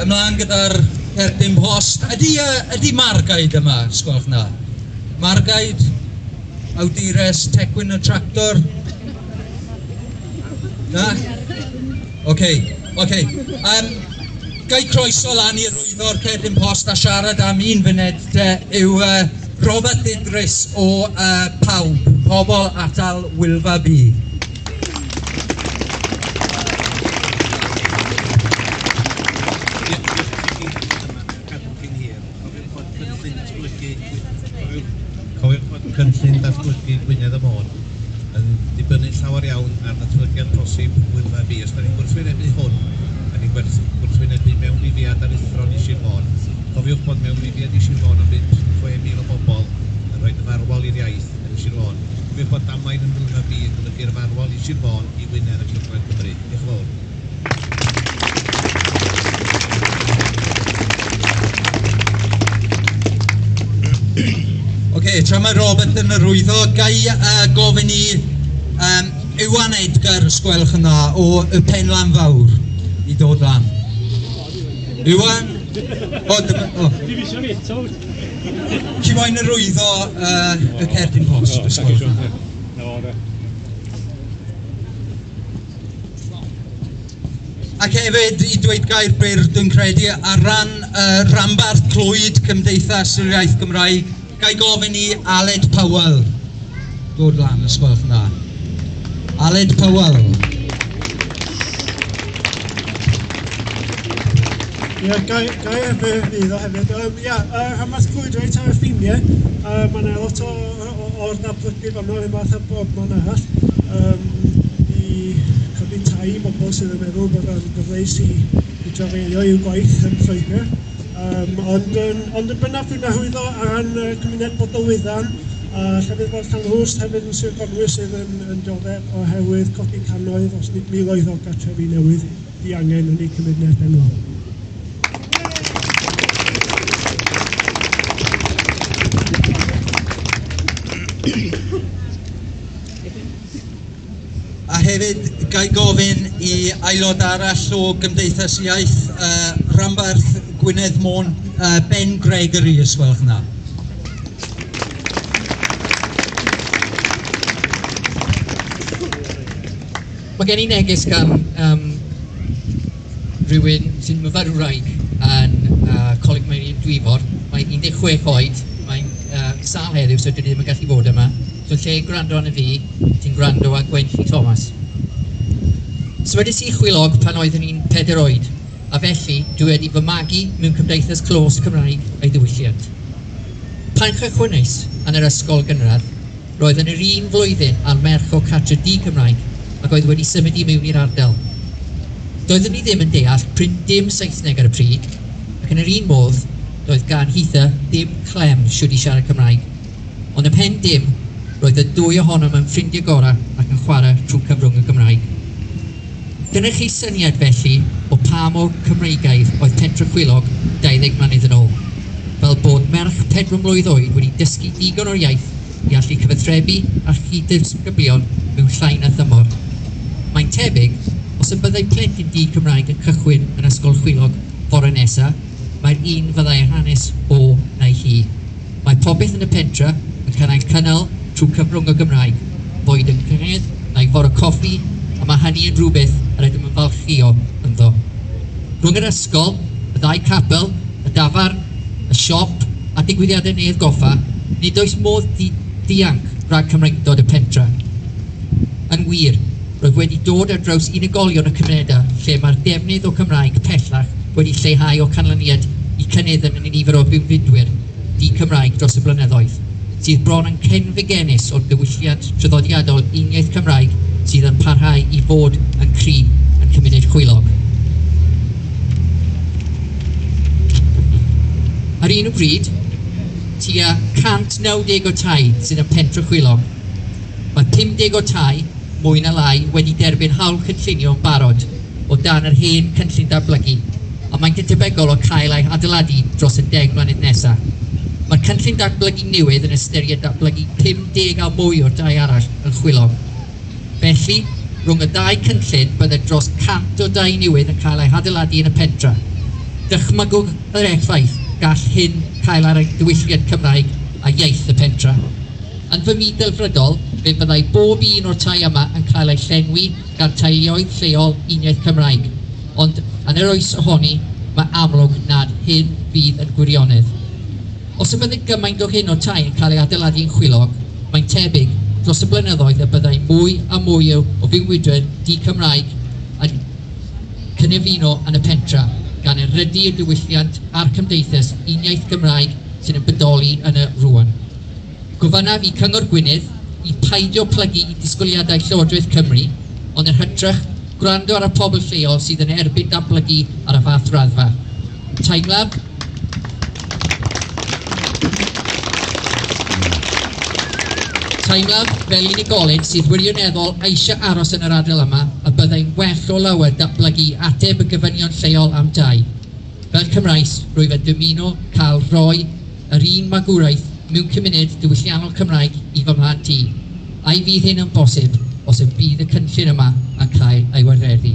Ymlaen gyda'r cerdyn post. Ydy Margaid yma, sgwelwch na? Margaid, awdures Tecwyn y Tractor? Na? Oce. Gai croeso lan i arwyddo'r cerdyn post a siarad am un funud te yw Robert Idris o Pawb, Pobl Atal Wylfa B. Cofiwch bod cynllun datblygu Gwynedd a Môn yn dibynnu llawer iawn ar ddatblygiad posib Wylfa B. Os da ni'n gwrthwynebu hwn, da ni'n gwrthwynebu mewnlifiad aruthrol i Sir Fôn. Cofiwch bod mewnlifiad i Sir Fôn yn 5-6 mil o bobl yn rhoi farwol i'r iaith yn Sir Fôn. Cofiwch bod damwain yn Wylfa B yn golygu'r farwol i Sir Fôn, i Wynedd ac i Ogledd Cymru. Diolch yn fawr. Oce, tra mae Robert yn arwyddo, gai gofyn i Iwan Edgar, os gwelwch yn dda, o y Penlan Fawr i dod lan. Iwan? O, dyma, o. Ti moyn arwyddo y cerdyn post, os gwelwch yn dda? Ac hefyd, i dweud gair byr, dwi'n credu, ar ran Rhanbarth Clwyd Cymdeithas yr Iaith Gymraeg, gai gofyn i Aled Powell dod lan, os gwelwch yn dda. Aled Powell. Ie, gai hefyd iddo hefyd. Ia, Rhanbarth Clwyd reit ar y ffiniau. Mae yna lot o'r datblygu fanno, yr un fath â bob man arall. I codi tai i bobl sydd yn meddwl bod o'n gyfleus i drafeilio i'w gwaith yn Lloegr. Ond yn bennaf dwi'n arwyddo ar ran cymuned Bodelwyddan a llefydd fel Llanrwst hefyd yn Sir Conwy sydd yn dioddef oherwydd codi cannoedd os nid miloedd o gartrefi newydd diangen yn eu cymuned enw. A hefyd, gai gofyn i aelod arall o Gymdeithas Iaith Rhanbarth Gwynedd Môn, Ben Gregory, os gwelwch yn dda. Mae gen i neges gan rhywun sy'n myfyrwraig yn Coleg Meirion Dwyfor. Mae 16 oed, mae'n sâl heddiw, so dwi ddim yn gallu bod yma. So lle gwrando arno fi, ti'n gwrando ar Gwenlli Thomas. Symudais i Chwilog pan oeddwn i'n 4 oed, a felly dwi wedi fy magu mewn cymdeithas clos Cymraeg a'i ddiwylliant. Pan chychwynnais yn yr ysgol gynradd, roedd yn yr un flwyddyn â'r merch o cartre di Cymraeg ac oedd wedi symud i mewn i'r ardal. Doeddwn i ddim yn deall prin dim Saesneg ar y pryd, ac yn yr un modd, doedd gan Hitha ddim clem shwd i siarad Cymraeg. Ond ymhen dim, roedd y dwy ohonom yn ffrindiau gorau ac yn chwarae trwy cyfrwng y Gymraeg. Dyna chi syniad felly o pa mor Cymreigaidd oedd Pentre Chwilog 20 mlynedd yn ôl, fel bod merch 4 mlwydd oed wedi dysgu digon o'r iaith i allu cyfathrebu a chyd-ddisgyblion mewn llai na thymor. Mae'n tebyg, os y byddai plentyn di Cymraeg yn cychwyn yn Ysgol Chwilog fore nesa, mae'r un fyddai'r hanes o neu hi. Mae popeth yn y pentre yn cael ei cynnal trwy cyfrwng y Gymraeg, boed yn cyngerdd neu fore coffi, a mae hynny yn rhywbeth yr ydym yn falchio ynddo. Rhwng yr ysgol, y ddau capel, y dafarn, y siop a digwyddiadau Neuadd Goffa, nid oes modd dianc rhag Cymreictod y pentre. Yn wir, roedd wedi dod ar draws unigolion y cymunedau lle mae'r defnydd o Cymraeg pellach wedi lleihau o canlyniad i cynnydd yn y nifer o fewnfudwyr di-Cymraeg dros y blynyddoedd, sydd bron yn cenfigennus o'r diwylliant traddodiadol uniaith Cymraeg sydd yn parhau i fod yn cry yn cymuned Chwilog. Ar un o bryd, tua 190 o tai sydd yn Pentre Chwilog. Mae 50 o tai, mwy na lai, wedi derbyn hawl cynllunio yn barod o dan yr hen cynllun datblygu, a mae'n debygol o cael ei adeiladu dros y 10 mlynedd nesaf. Mae'r cynllun datblygu newydd yn ystyried datblygu 50 a mwy o'r dai arall yn Chwilog. Felly, rhwng y dau cynllun byddai dros 100 o dai newydd yn cael eu hadeiladu yn y pentre. Dychmygwch yr effaith gall hyn cael ar y diwylliant Cymraeg a iaith y pentra. Yn fy myd delfrydol, fe fyddai bob un o'r tai yma yn cael ei llenwi gan teuluoedd lleol uniaith Cymraeg, ond yn yr oes ohoni, mae amlwg nad hyn fydd yn gwirionedd. Os y byddai gymaint o hyn o tai yn cael ei adeiladu yn Chwilog, mae'n tebyg dros y blynyddoedd y byddai mwy a mwy o fywydau di-Cymraeg yn cynefino yn y pentra, gan erydu y diwylliant a'r cymdeithas uniaith Gymraeg sy'n yn bodoli yn y rwan. Gofynnaf i Cyngor Gwynedd i paidio plygu i disgwyliadau Llywodraeth Cymru, ond yn hytrach gwrando ar y pobl lleol sydd yn erbyn datblygu ar y fath raddfa. Teimlaf fel unigolyn sydd wirioneddol eisiau aros yn yr ardal yma y byddai'n well o lawer datblygu ateb y gofynion lleol am dai. Fel Cymraes, rwyf yn dymuno cael rhoi yr un magwraeth mewn cymuned diwylliannol Cymraeg i fy mhlant i. Ai fydd hyn yn bosib os y bydd y cynllun yma yn cael ei wireddu?